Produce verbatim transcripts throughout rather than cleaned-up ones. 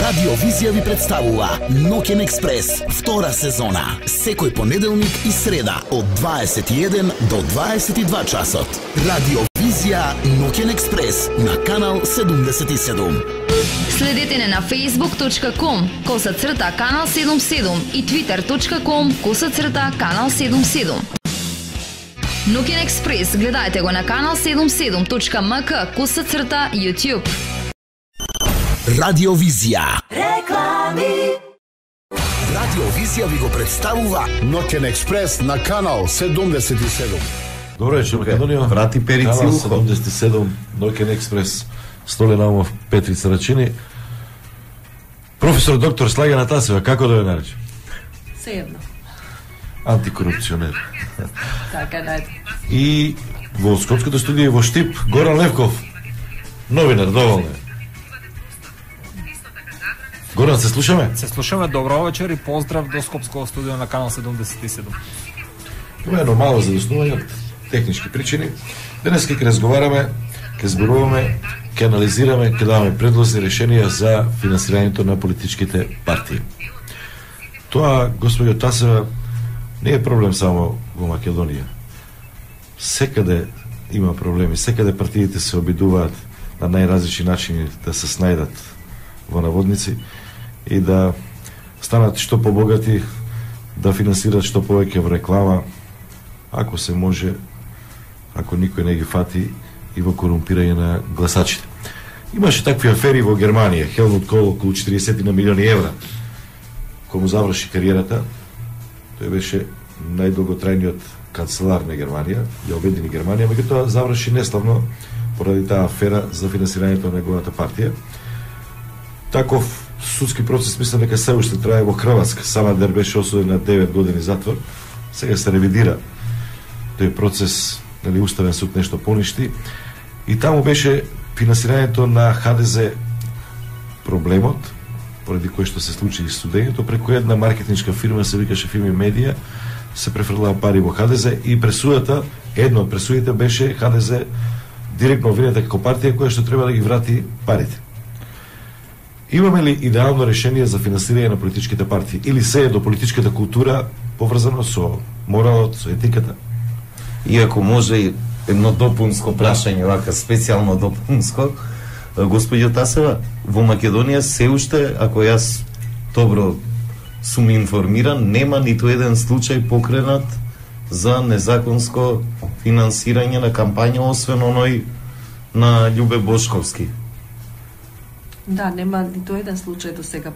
Радио Визија ви представува Ноќен експрес, втора сезона. Секој понеделник и среда од дваесет и еден до дваесет и два часот. Радио Визија Ноќен експрес на канал седумдесет и седум. Следете не на facebook точка com коса црта канал седумдесет и седум и twitter точка com коса црта канал седумдесет и седум. Ноќен експрес гледајте го на канал седумдесет и седум точка ем ка коса црта YouTube. Радио Визија. Реклами. Радио Визија ви го представува Ноќен експрес на канал седумдесет и седум. Добро вечер, Македонија. Врати перици Канал ухо. седумдесет и седум, Ноќен експрес, Столе Наумов, Петрица Рачини. Професор доктор Слагена Тасева, како да ја нарече? Сеедно. Антикорупционер. Така, најде. И во Скопското студио во Штип, Горан Левков, новинар, доволно е. Горан, се слушаме? Се слушаме, добро вечер и поздрав до Скопското студио на канал седумдесет и седум. Има едно мало задоснување од технички причини. Денес ќе разговараме, ќе зборуваме, ќе анализираме, ќе даваме предлози и решенија за финансирањето на политичките партии. Тоа, господјо Тасева, не е проблем само во Македонија. Секаде има проблеми, секаде партиите се обидуваат на најразлични начини да се снајдат во наводници и да станат што побогати, да финансират што повеќе во реклама, ако се може, ако никој не ги фати, и во корумпирање на гласачите. Имаше такви афери во Германија, Хелмут Кол околу четириесет на милиони евра, кога му заврши кариерата. Тој беше најдолготрајниот канцелар на Германија, ја обедини Германија, меѓутоа заврши неславно поради таа афера за финансирањето на неговата партија. Таков судски процес мислам дека се уште трае во Хрватска. Самадер беше осуден на девет години затвор. Сега се ревидира тој процес, нели уставен суд нешто поништи. И таму беше финансирањето на ха де зе проблемот, поради кој што се случи и студењето, преку една маркетиншка фирма се викаше Фими Медија, се префрлаа пари во ха де зе и пресудата, едно од пресудите беше ха де зе директно обвинета како партија која што треба да ги врати парите. Имаме ли идеално решение за финансирање на политичките партии или се е до политичката култура поврзано со моралот, со етиката? Иако може едно допунско прашање, вака специјално допунско, господјо Тасева, во Македонија се уште, ако јас добро сум информиран, нема ниту еден случај покренат за незаконско финансирање на кампања, освен оној на Љубе Бошковски. Да, нема ниту еден случај до сега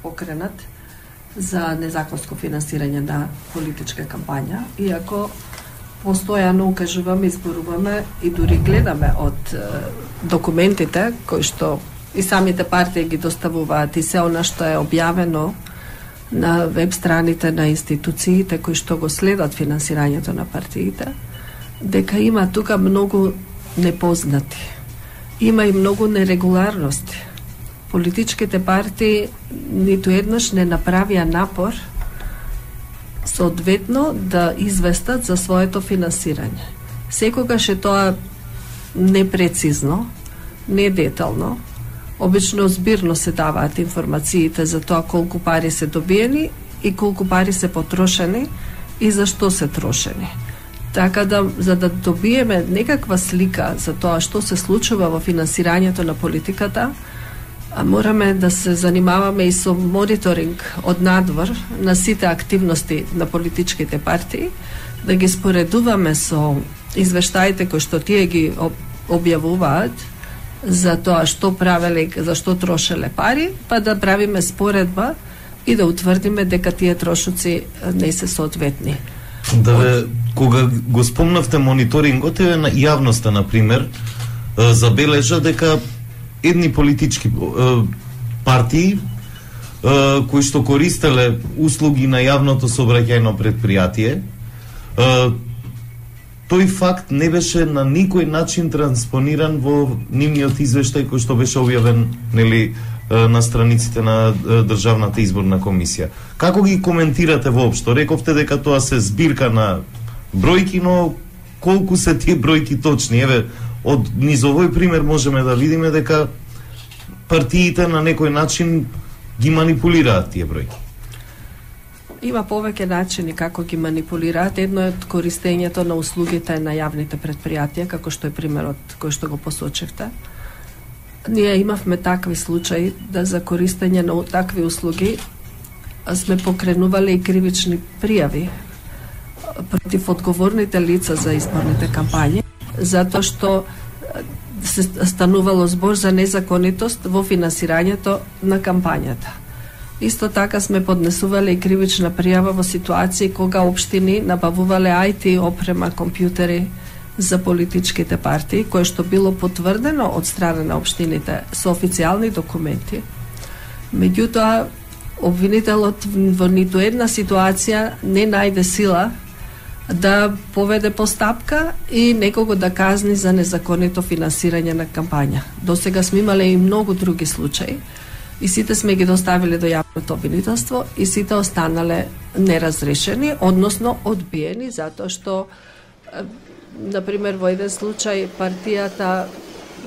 покренат за незаконско финансирање на политичка кампања, иако постојано укажуваме, изборуваме и дури гледаме од е, документите кои што и самите партии ги доставуваат и се она што е објавено на веб страните на институциите кои што го следат финансирањето на партиите, дека има тука многу непознати. Има и многу нерегуларности. Политичките партии ниту еднаш не направија напор соодветно да известат за своето финансирање. Секогаш е тоа непрецизно, недетално. Обично збирно се даваат информациите за тоа колку пари се добиени и колку пари се потрошени и за што се трошени. Така да, за да добиеме некаква слика за тоа што се случува во финансирањето на политиката, а мораме да се занимаваме и со мониторинг од надвор на сите активности на политичките партии, да ги споредуваме со извештаите кои што тие ги објавуваат за тоа што правеле, за што трошеле пари, па да правиме споредба и да утврдиме дека тие трошоци не се соодветни. Да ве, кога го спомнавте мониторингот, е на јавноста, например, забележа дека едни политички е, партии е, кои што користеле услуги на јавното сообраќајно предпријатие, е, тој факт не беше на никој начин транспониран во нивниот извештај кој што беше објавен, нели, на страниците на Државната изборна комисија. Како ги коментирате воопшто? Рековте дека тоа се збирка на бројки, но колку се тие бројки точни? Еве, од низ овој пример можеме да видиме дека партиите на некој начин ги манипулираат тие бројки? Има повеќе начини како ги манипулираат. Едно е користењето на услугите на јавните предпријатија, како што е примерот кој што го посочевте. Ние имавме такви случаи да за користење на такви услуги сме покренувале и кривични пријави против одговорните лица за изборните кампањи, затоа што се станувало збор за незаконитост во финансирањето на кампањата. Исто така сме поднесувале и кривична пријава во ситуации кога општини набавувале ај ти опрема, компјутери за политичките партии, кое што било потврдено од страна на општините со официјални документи. Меѓутоа, обвинителот во ниту една ситуација не најде сила да поведе постапка и некого да казни за незаконито финансирање на кампања. До сега сме имале и многу други случаи и сите сме ги доставиле до јавното обвинителство и сите останале неразрешени, односно одбиени, затоа што, например, во еден случај партијата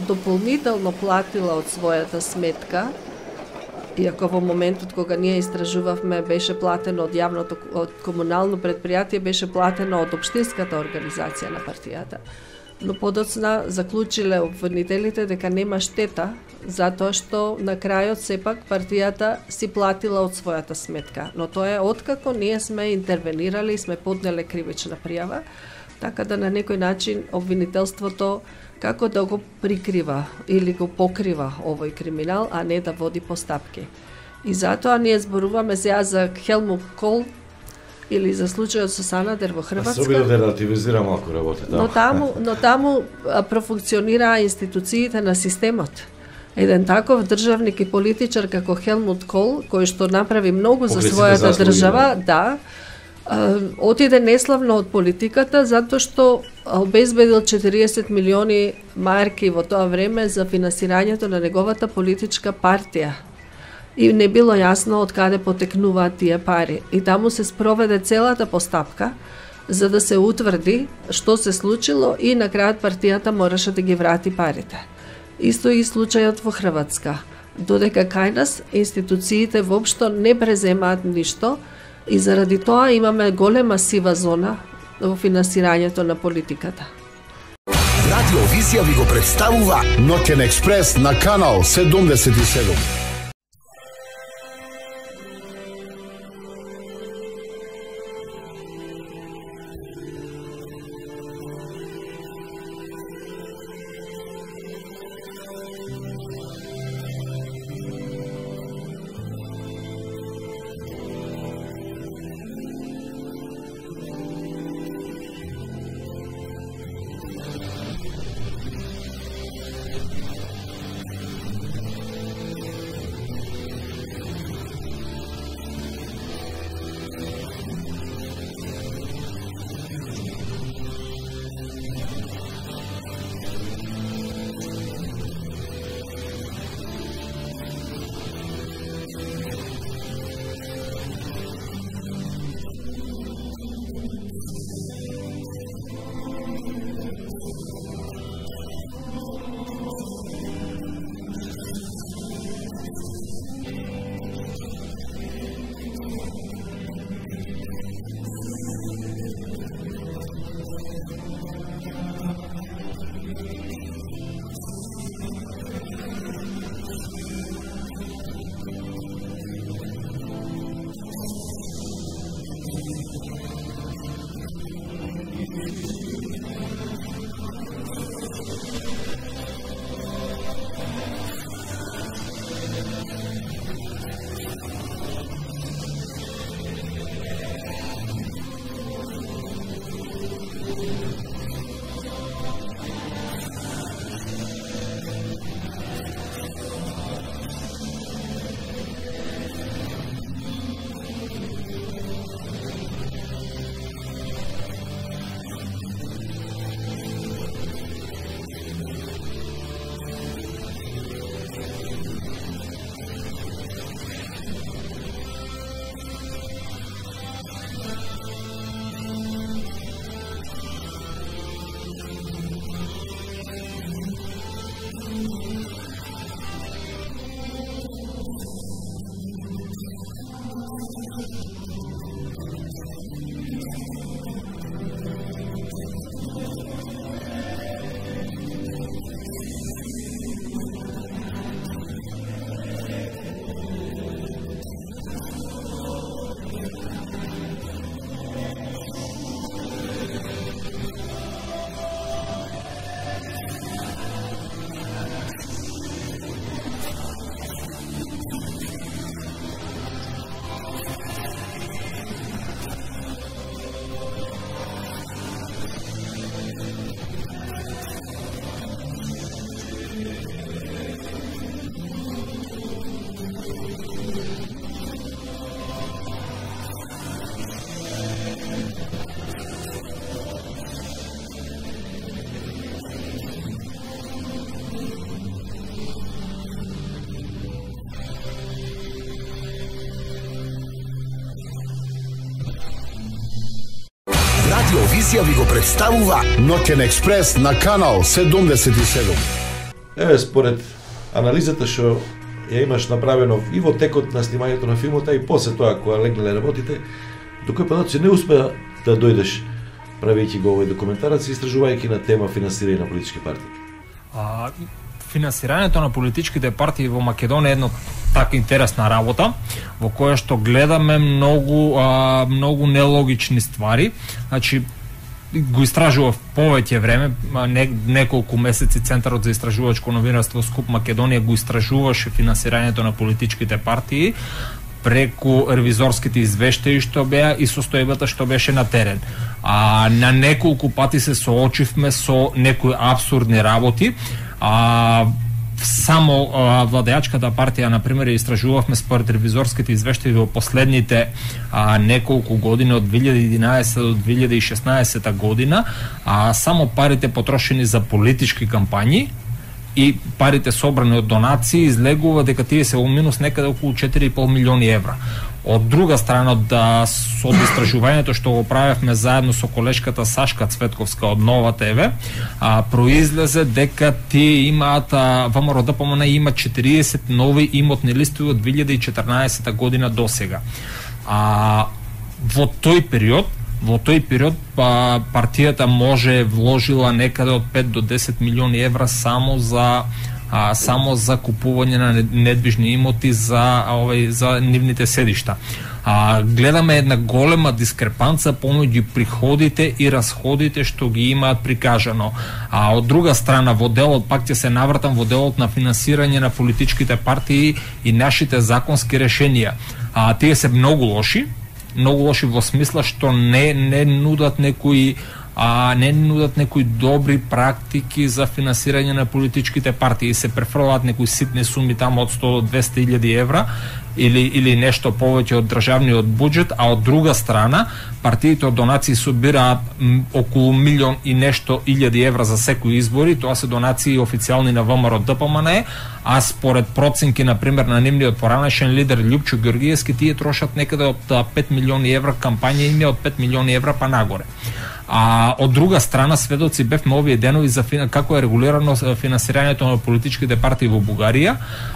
дополнително платила од својата сметка, иако во моментот кога ние истражувавме беше платено од јавното, од комунално предпријатие, беше платено од општинската организација на партијата. Но подоцна заклучиле обвинителите дека нема штета, затоа што на крајот сепак партијата си платила од својата сметка. Но тоа е откако ние сме интервенирали и сме поднеле кривична пријава, така да на некој начин обвинителството како да го прикрива или го покрива овој криминал, а не да води постапки. И затоа ние зборуваме сега за Хелмут Кол или за случајот со Санадер во Хрватска. Се обиде да релативизира малку работата. Но таму, но таму профункционираа институциите на системот. Еден таков државник и политичар како Хелмут Кол, кој што направи многу за својата држава, да, отиде неславно од политиката затоа што обезбедил четириесет милиони марки во тоа време за финансирањето на неговата политичка партија. И не било јасно од каде потекнуваат тие пари. И таму се спроведе целата постапка за да се утврди што се случило и на крајот партијата мораше да ги врати парите. Исто и случајот во Хрватска. Додека кај нас институциите воопшто не преземаат ништо, и заради тоа имаме голема сива зона во финансирањето на политиката. Радио Визија ви го представува Ноќен експрес на канал седумдесет и седум. Радиовизија ви го представува Ноќен експрес на канал седумдесет и седум. Еве, според анализата што ја имаш направено и во текот на снимањето на филмот, и после тоа кога легнале работите, до кој податоци не успеа да дојдеш правејќи го овој документарец и истражувајќи на тема финансирање на политички партии? А, финансирањето на политичките партии во Македонија е едно така интересна работа во која што гледаме многу а, многу нелогични ствари. Значи го истражував повеќе време, не, неколку месеци Центарот за истражувачко новинарство Скуп Македонија го истражуваше финансирањето на политичките партии преку ревизорските извештаи што беа и состојбата што беше на терен. А на неколку пати се соочивме со некои апсурдни работи. А само а, владеачката партија, на пример, истражувавме според ревизорските извештаи во последните а, неколку години од две илјади и единаесета до две илјади и шеснаесета година, а само парите потрошени за политички кампањи и парите собрани од донации излегува дека тие се во минус некаде околу четири и пол милиони евра. Од друга страна, да, со истражувањето што го правевме заедно со колешката Сашка Цветковска од Нова ТВ, а, произлезе дека тие имаат, ВМРО-ДПМН има четириесет нови имотни листови од две илјади и четрнаесета година до сега. А во тој период Во тој период па, партијата може вложила некаде од пет до десет милиони евра само за а, само за купување на недвижни имоти за овој за нивните седишта. А, гледаме една голема дискрепанца помеѓу приходите и расходите што ги имаат прикажано. А од друга страна, во делот, пак ќе се навратам во делот на финансирање на политичките партии и нашите законски решенија. А, тие се многу лоши, многу лоши во смисла што не не нудат некои а не нудат некои добри практики за финансирање на политичките партии. Се префрлаат некои ситни суми тамо од сто до двесте илјади евра или или нешто повеќе од државниот буџет, а од друга страна партиите од донации собираат околу милион и нешто илјади евра за секои избори. Тоа се донации официјални на ВМРО-ДПМН, а според проценки, на пример, на нивниот поранешен лидер Љупчо Ѓоргиевски, тие трошат некаде од пет милиони евра, кампања име од пет милиони евра па нагоре. А од друга страна, сведоци бевме овие денови за фина, како е регулирано финансирањето на политичките партии во Бугарија.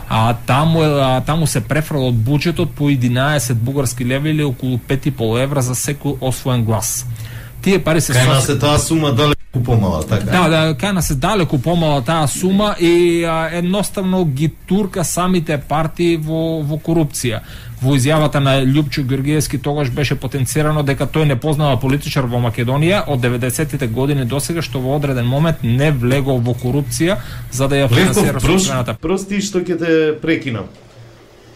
А таму а, таму се префрла од буџетот по единаесет бугарски леви или околу пет и пол евра за секој освоен глас. Тие пари се Кај нас е таа сума далеку помала, така? Да, да, кај нас е далеку помала таа сума и а, едноставно ги турка самите партии во во корупција. Во изјавата на Љупчо Ѓоргиевски тогаш беше потенцирано дека тој не познава политичар во Македонија од деветдесетите години до сега што во одреден момент не влегол во корупција за да ја финансира собствената. Прости што ќе те прекинам.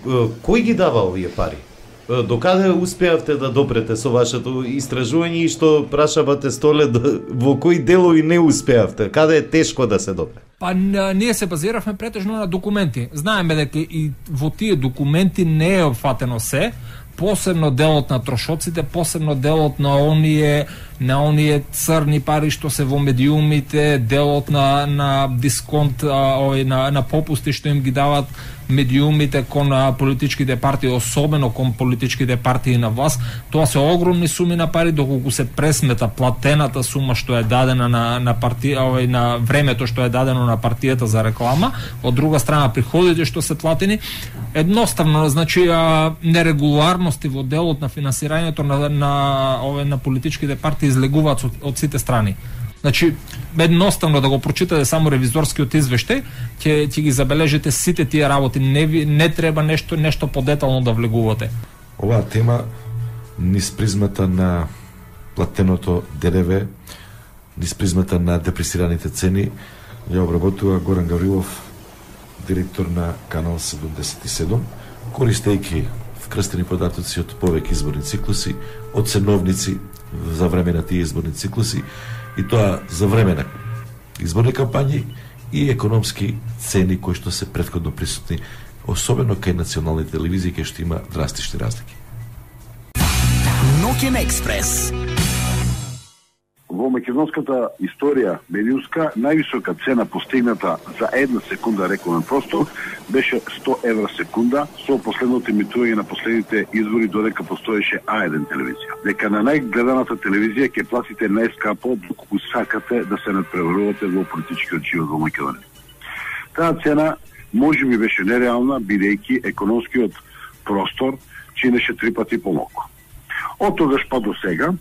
Кој ги дава овие пари? Докаде успеавте да допрете со вашето истражување и што прашавате Столе, во кои делови не успеавте? Каде е тешко да се допре? Па ние се базиравме претежно на документи. Знаеме дека и во тие документи не е опфатено се, посебно делот на трошоците, посебно делот на оние на оние црни пари што се во медиумите, делот на на дисконт, овој на на попусти што им ги дават медиумите кон политичките партии, особено кон политичките партии на власт. Тоа се огромни суми на пари, доколку се пресмета платената сума што е дадена на на партија, овој на времето што е дадено на партијата за реклама, од друга страна приходите што се платени, едноставно, значи нерегуларности во делот на финансирањето на на овој на политичките партии излегуваат од, од сите страни. Значи, едноставно да го прочитате само ревизорскиот извештај, ќе ќе ги забележите сите тие работи. Не ви, не треба нешто нешто подетално да влегувате. Оваа тема низ призмата на платеното ДДВ, низ призмата на депресираните цени, ја обработува Горан Гаврилов, директор на канал седумдесет и седум, користејќи вкрстени податоци од повеќе изборни циклуси, од ценовници за време на тие изборни циклуси, и тоа за време на изборни кампањи и економски цени кои што се претходно присутни, особено кај национални телевизии, кај што има драстични разлики. Ноќен експрес. во македонската историја медиумска највисока цена постигната за една секунда рекламен простор беше сто евра секунда со последното емитување на последните избори додека постоеше А еден телевизија. Дека на најгледаната телевизија ќе платите најскапо доколку сакате да се надпреварувате во политичкиот живот во Македонија. Таа цена можеби беше нереална, бидејќи економскиот простор чинеше три пати помалку. Од тогаш па до сега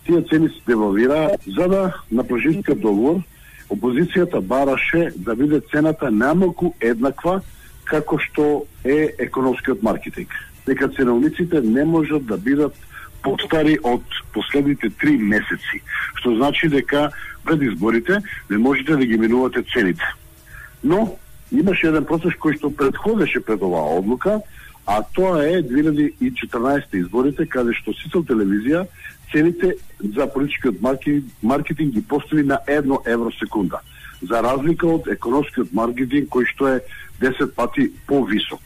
тие цени се девалвираа, за да на пожиткиот договор опозицијата бараше да биде цената најмалку еднаква како што е економскиот маркетинг. Дека ценовниците не можат да бидат постари од последните три месеци, што значи дека пред изборите не можете да ги минувате цените. Но имаше еден процес кој што предходеше пред оваа одлука, а тоа е две илјади и четрнаесетте изборите, каде што Сител телевизија цените за политичкиот маркетинг ги постави на едно евро секунда, за разлика од економскиот маркетинг кој што е десет пати повисок.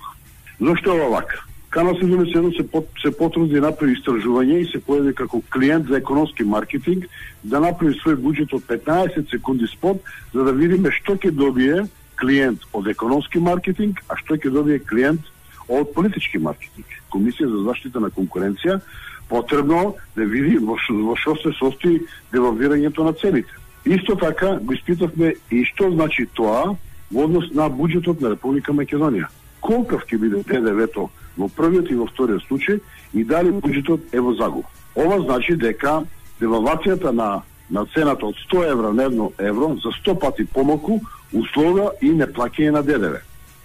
Зошто е ова вака? Канал седумдесет и седум се, под, се потруди да направи истражување и се појави како клиент за економски маркетинг да направи свој буџет од петнаесет секунди спот, за да видиме што ќе добие клиент од економски маркетинг, а што ќе добие клиент од политички маркетинг. Комисија за заштита на конкуренција потребно да види во што се состои девалвирањето на цените. Исто така го испитавме и што значи тоа во однос на буџетот на Република Македонија. Колкав ќе биде Д Д В-то во првиот и во вториот случај и дали буџетот е во загуба. Ова значи дека девалвацијата на на цената од сто евра на едно евро за сто пати помалку условува и неплаќање на Д Д В.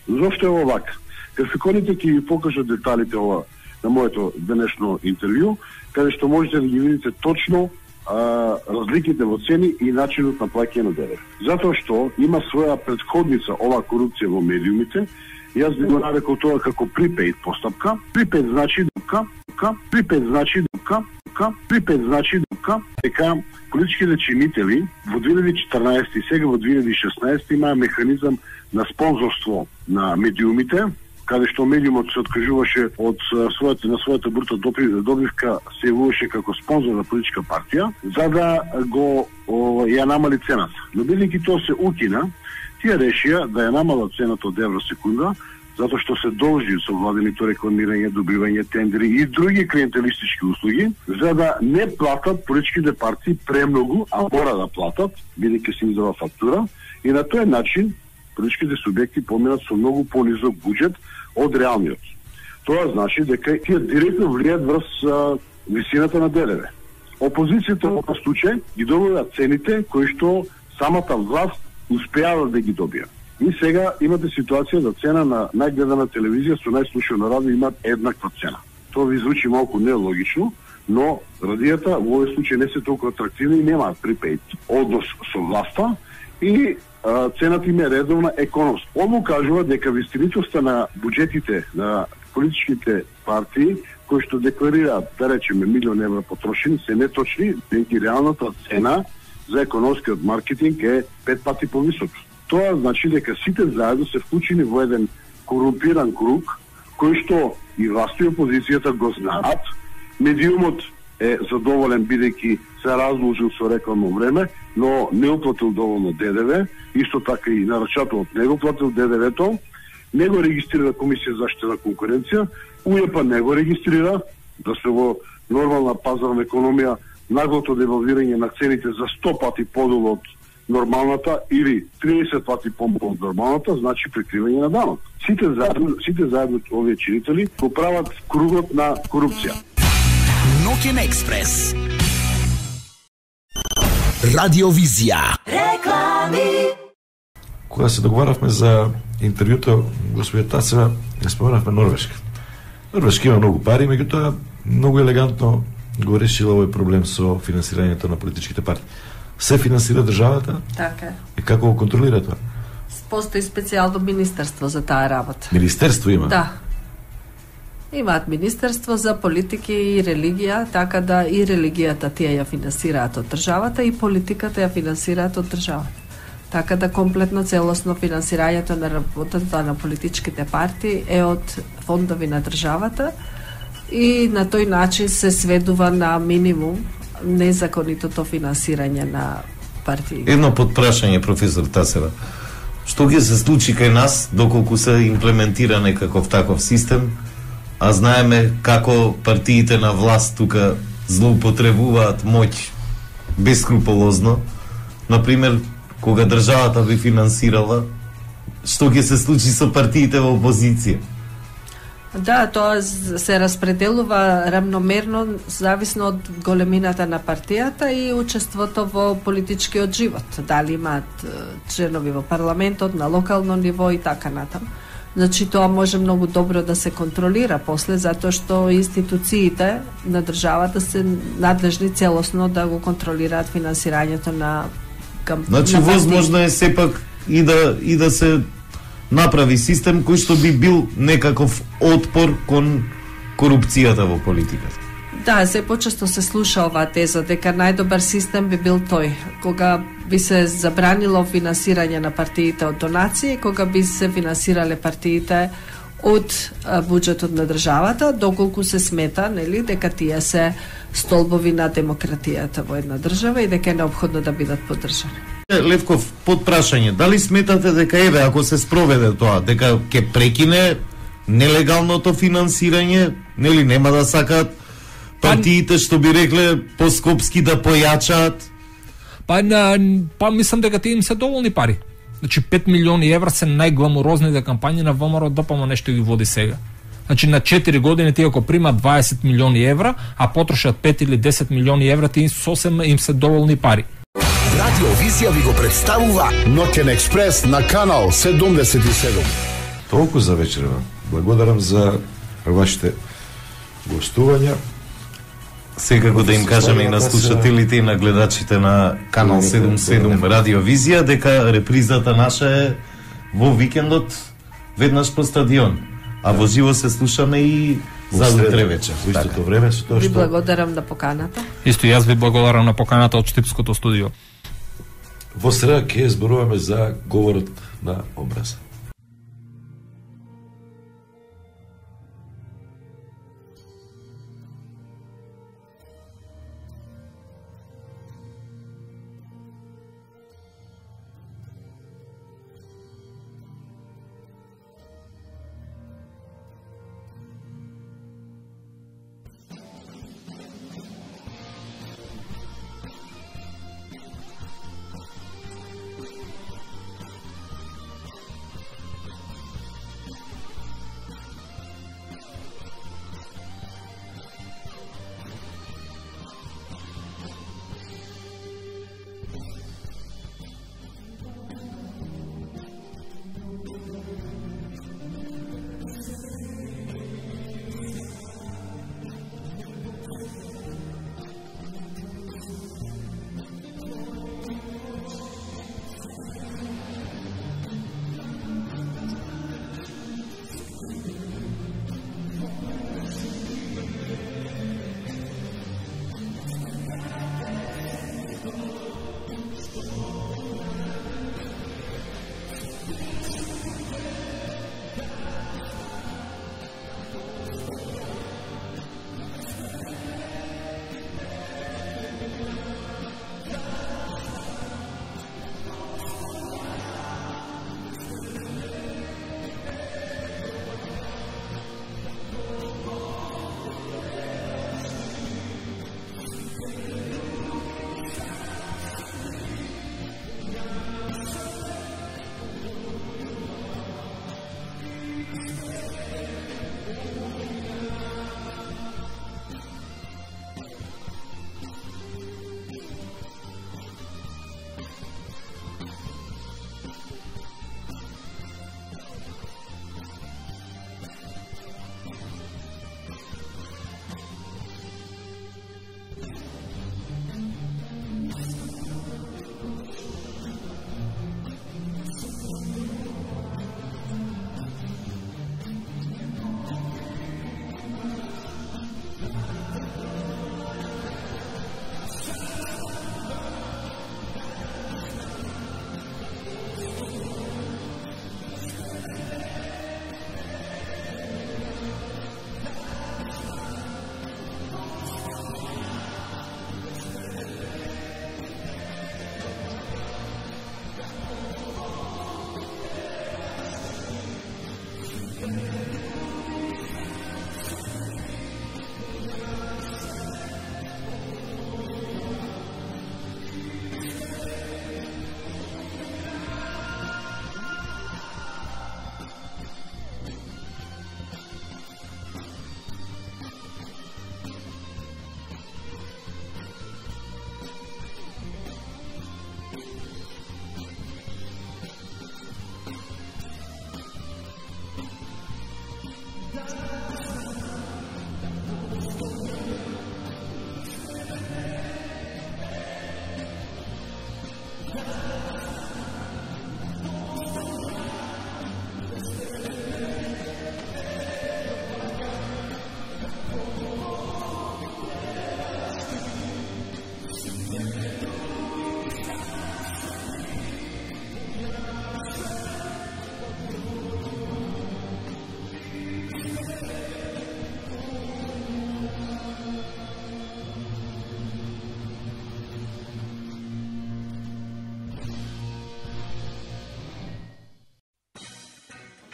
Зошто е ова вака? Графиконите ќе ви покажат деталите ова на моето денешно интервју, каде што можете да ги видите точно а, разликите во цени и начинот на плаќање на Д Д В. Затоа што има своја предходница ова корупција во медиумите, јас би го нарекол тоа како припейд постапка. Припейд значи дека, припейд значи дека, припейд значи дека, дека политичките чинители во две илјади и четрнаесетте и сега во две илјади и шеснаесетте имаа механизам на спонзорство на медиумите, каде што медиумот се откажуваше од својата на својата брута добивка, се јавуваше како спонзор на политичка партија, за да го о, ја намали цената. Но бидејќи тоа се укина, тие решија да ја намалат цената од евро секунда, затоа што се должи со владеното рекламирање, добивање тендери и други клиентелистички услуги, за да не платат политичките партии премногу, а мора да платат, бидејќи се издава фактура, и на тој начин политичките субјекти поминат со многу понизок буџет од реалниот. Тоа значи дека тие директно влијаат врз а, висината на Д Д В. Опозицијата во овој случај ги добива цените кои што самата власт успеава да ги добија. И сега имате ситуација да цена на најгледана телевизија со најслушано радио имаат еднаква цена. Тоа ви звучи малку нелогично, но радијата во овој случај не се толку атрактивни и немаат припејт однос со власта и а, цената им е редовна економска. Ово кажува дека вистинитоста на буџетите на политичките партии кои што декларираат, да речеме, милион евра потрошени, се неточни, дека реалната цена за економскиот маркетинг е пет пати повисока. Тоа значи дека сите заедно се вклучени во еден корумпиран круг, кој што и власта и опозицијата го знаат. Медиумот е задоволен бидејќи се разложил со рекламно време, но не уплатил доволно Д Д В, исто така и нарачателот не го платил Д Д В-то, не го регистрира Комисија за заштита на конкуренција, У Е П не го регистрира, да се во нормална пазарна економија наглото девалвирање на цените за сто пати подолу од нормалната или триесет пати помалку од нормалната, значи прикривање на данок. Сите заедно, сите заедно овие чинители го прават кругот на корупција. Ноќен експрес. Радиовизија. Реклами. Кога се договаравме за интервјуто, господја Тацева, ја споменавме Норвешка. Норвешка има многу пари, меѓутоа многу елегантно го решила овој проблем со финансирањето на политичките партии. Се финансира државата? Така е. И како го контролира тоа? Постои специјално министерство за таа работа. Министерство има? Да. Имаат министерство за политики и религија, така да и религијата тие ја финансираат од државата и политиката ја финансираат од државата. Така да комплетно целосно финансирањето на работата на политичките партии е од фондови на државата и на тој начин се сведува на минимум незаконитото финансирање на партии. Едно подпрашање, професор Тасева. Што ќе се случи кај нас доколку се имплементира некаков таков систем, а знаеме како партиите на власт тука злоупотребуваат моќ бескрупулозно. Например, кога државата би финансирала, што ќе се случи со партиите во опозиција? Да, тоа се распределува рамномерно зависно од големината на партијата и учеството во политичкиот живот. Дали имаат членови во парламентот, на локално ниво и така натаму. Значи тоа може многу добро да се контролира после, затоа што институциите на државата се надлежни целосно да го контролираат финансирањето на кампања. Значи возможно е сепак и да и да се направи систем кој што би бил некаков отпор кон корупцијата во политиката. Да, се почесто се слуша оваа теза дека најдобар систем би бил тој, кога би се забранило финансирање на партиите од донации, кога би се финансирале партиите од буџетот на државата, доколку се смета, нели, дека тие се столбови на демократијата во една држава и дека е неопходно да бидат поддржани. Левков, подпрашање, дали сметате дека еве ако се спроведе тоа, дека ќе прекине нелегалното финансирање, нели нема да сакаат партиите што би рекле по-скопски да појачаат? Па, на, па мислам дека тие им се доволни пари. Значи пет милиони евра се најгламурозните кампањи на ВМРО ДПМ нешто ги води сега. Значи на четири години тие ако примат дваесет милиони евра, а потрошат пет или десет милиони евра, тие сосем им се доволни пари. Радио Визија ви го представува Ноќен експрес на канал седумдесет и седум. Толку за вечерва. Благодарам за вашите гостувања. Секако да им кажеме и на слушателите и на гледачите на канал седумдесет и седум Радио Визија дека репризата наша е во викендот веднаш по стадион. А во живо се слушаме и за утре вечер. Во истото време со тоа Ви што благодарам на поканата. Исто јас ви благодарам на поканата од Штипското студио. во среда ќе зборуваме за говорот на образа.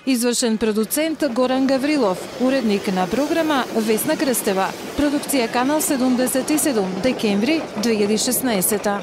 Извршен продуцент Горан Гаврилов, уредник на програма Весна Крстева. Продукција Канал седумдесет и седум, декември две илјади и шеснаесета.